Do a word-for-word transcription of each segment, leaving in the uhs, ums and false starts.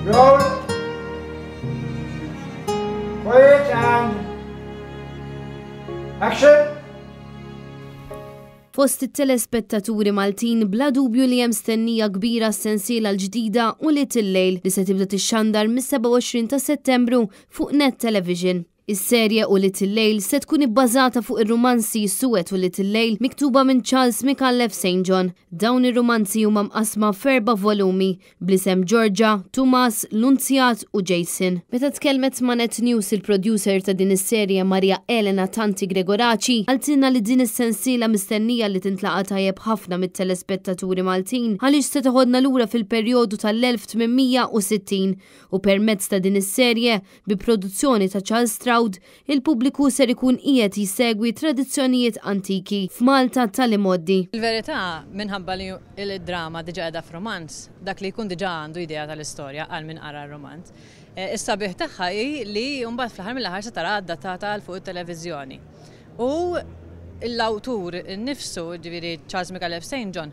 Roll. Quiet and action. Fost it-telespettaturi Maltin bla dubju li hemm stennija kbira s-sensiela l-ġdida Ulied il-Lejl li se tibda tixxandar mis-sebgħa u għoxrin ta' Settembru fuq Net Television. Is-serje Ulied il-Lejl se tkun ibbażata fuq ir-rumanzi Suwed Ulied il-Lejl miktuba minn Charles Micallef Saint John. Dawn ir-rumanzi huma mqasma f'erba' volumi bl-isem Georgia, Tumas, Lunzjat u Jason. Meta tkellmet ma' Net News il-producer ta' din is-serje Maria Elena Tanti Gregoraci qaltilna li din is-sensiela mistennija li tintlaqa' tajjeb ħafna mit-telespettaturi Maltin għaliex se toħodna lura fil-perjodu tal-elf tmien mija u sittin u permezz ta' din is-serje bi produzzjoni ta' Charles Stroud il-pubbliku ser ikun qiegħed jisegwi tradizzjonijiet antiki f'Malta tal-imgħoddi. Il-verità, minħabba li il-drama diġà qiegħda f'romanz, dak li jkun diġà għandu idea tal-istorja għal min qara r-romanz. Eh, is-sabiħ tagħha hi li mbagħad fl-aħħar mill-aħħar se tara adattata għal fuq it-televiżjoni. U l-awtur innifsu, ġifieri Charles Micallef Saint John,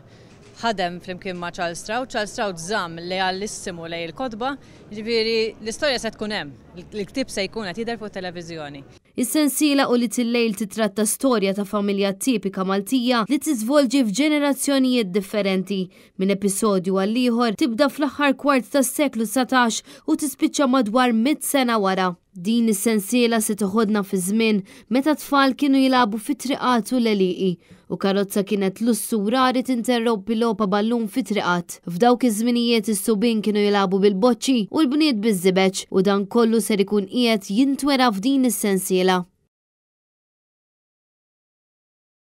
ħadem flimkien ma' Charles Stroud. Charles Stroud żamm lealissimu lejn il-kotba, ġifieri l-istorja se tkun hemm, il-ktieb se jkun qed jidher fuq televiżjoni. Is-sensiela Ulied il-Lejl titratta storja ta' familja tipika Maltija li tiżvolġi f'ġenerazzjonijiet differenti. Minn episodju għal ieħor tibda fl-aħħar kwart tas-seklu dsatax u tispiċċa madwar mitt sena wara. Din is-sensiela se toħodna fi żmien meta tfal kienu jilagħbu fit-triqat u l-għelieqi u karozza kienet lussu rari tinterrompi logħba ballun fit-triqat. F'dawk iż-żminijiet is-subien kienu jilagħbu bil-boċċi u l-bniet biż-żibeġ u dan kollu ser ikun qiegħed jintwera f'din is-sensiela.